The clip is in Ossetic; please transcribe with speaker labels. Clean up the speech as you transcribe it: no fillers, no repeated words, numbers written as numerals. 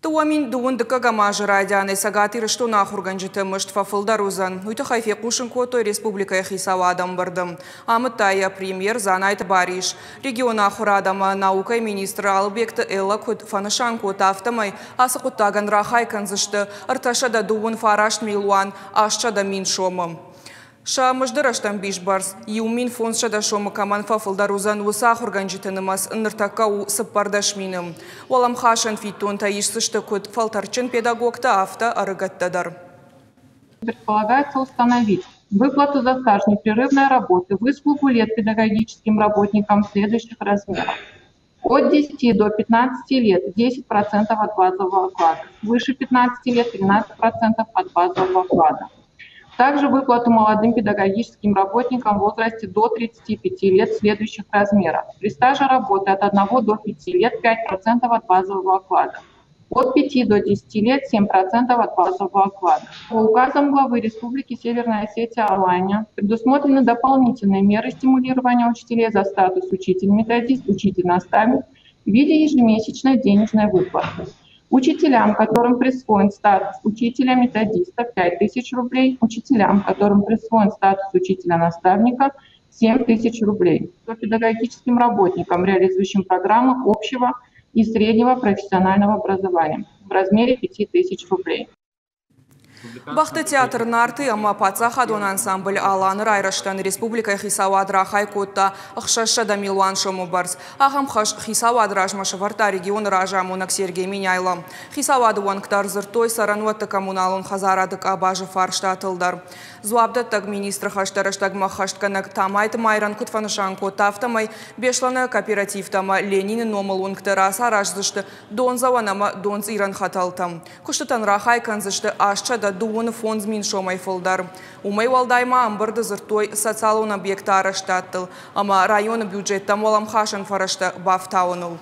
Speaker 1: 2022 азы райдианӕй Цӕгат Ирыстоны ахуыргӕнджыты мызд фӕфылдӕр уыдзӕн. Уый тыххӕй фехъусын кодтой республикӕйы хицауады ӕмбырды. Амыдта йӕ премьер Дзанайты Барис. Регионы ахуырад ӕмӕ наукӕйы министр Алыбегты Эллӕ куыд фӕнысан кодта, афтӕмӕй ацы хъуыддагӕн рахай кӕндзысты 329 милуан 800 мин сомы. Сӕ мызды рӕстӕмбис бӕрц 1500 сомы кӕмӕн фӕфылдӕр уыдзӕн, уыцы ахуыргӕнджыты нымӕц ныртӕккӕ у 14 мины. Уӕлӕмхасӕн фиддонтӕ исдзысты куыд фӕлтӕрдджын педагогтӕ, афтӕ ӕрыгӕттӕ дӕр.
Speaker 2: Предполагается установить выплату за стаж непрерывной работы, выслугу лет педагогическим работникам следующих размеров. От 10 до 15 лет 10% от базового оклада, свыше 15 лет 13% от базового оклада. Также выплату молодым педагогическим работникам в возрасте до 35 лет следующих размеров. При стаже работы от 1 до 5 лет 5% от базового оклада. От 5 до 10 лет 7% от базового оклада. По указам главы Республики Северная Осетия Алания предусмотрены дополнительные меры стимулирования учителей за статус учитель-методист, учитель-наставник в виде ежемесячной денежной выплаты. Учителям, которым присвоен статус учителя-методиста, 5000 рублей. Учителям, которым присвоен статус учителя-наставника, 7000 рублей. Педагогическим работникам, реализующим программы общего и среднего профессионального образования в размере 5000 рублей.
Speaker 1: Бӕхты театр Нарты ӕмӕ паддзахадон ансамбль Алан-ы райрӕзтӕн республикӕйы хицауад рахай кодта 600 милуан сомы бӕрц. Ахӕм хӕс хицауады размӕ сӕвӕрдта регионы разамонӕг Сергей Меняйло. Хицауады уӕнгтӕ ӕрдзырдтой цӕрӕнуӕтты коммуналон хӕдзарады къабазы фарстатыл дӕр. Дзуапдӕттӕг министры хӕстӕ рӕстӕгмӕ ӕххӕстгӕнӕг Тамайты Майран куыд фӕнысан кодта, афтӕмӕй Беслӕны кооперативтӕ ӕмӕ Ленины номыл уынгты рацараздзысты дондзӕуӕн ӕмӕ донцъирӕн хӕтӕлтӕ. Куыстытӕн рахай кӕндзысты 825 мин сомӕй фылдӕр. Уымӕй уӕлдай ма ӕмбырды дзырдтой социалон объектты арӕзтадтыл ӕмӕ районы бюджеттӕм уӕлӕмхасӕн фӕрӕзтӕ бафтауыныл.